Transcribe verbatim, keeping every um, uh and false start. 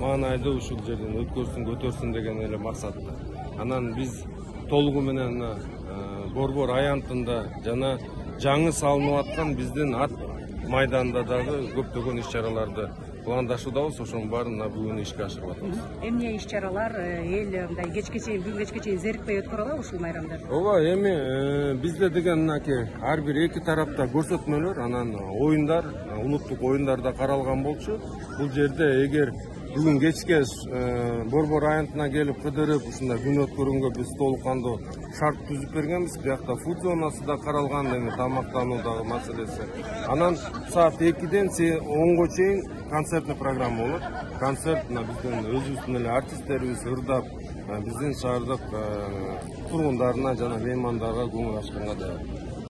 маанайды ушул жерден өткөрсүн, көтөрсүн деген эле максатта. Анан биз толугу менен Борбор аянтында жана жаңы салынып аткан биздин ат майданда дагы көптөгөн иш-чараларды пландашуудабыз. Ошонун баарын бүгүн ишке ашырып атабыз. Эмне иш-чаралар эл мындай кечке чейин, бүгүн кечке чейин зерикпей өткөрө алабы ушул майрамда? Ооба, эми бизде деген мынакей ар бир эки тарапта көрсөтмөлөр, анан оюндар, улуттук оюндар да каралган болчу. Бул жерде эгер бүгүн кечке Борбор аянтына келип кыдырып, ушундай күн өткөргөнгө биз толук кандуу шарт түзүп бергенбиз. Биякта фуд зонасы да каралган, эми тамактануудагы маселеси. Анан саат экиден онго чейин концертный программа болот. Концерт биздин өзүбүздүн эле артисттерибиз ырдап, биздин шаардык тургундарына жана меймандарга көңүл ачканга даярдык.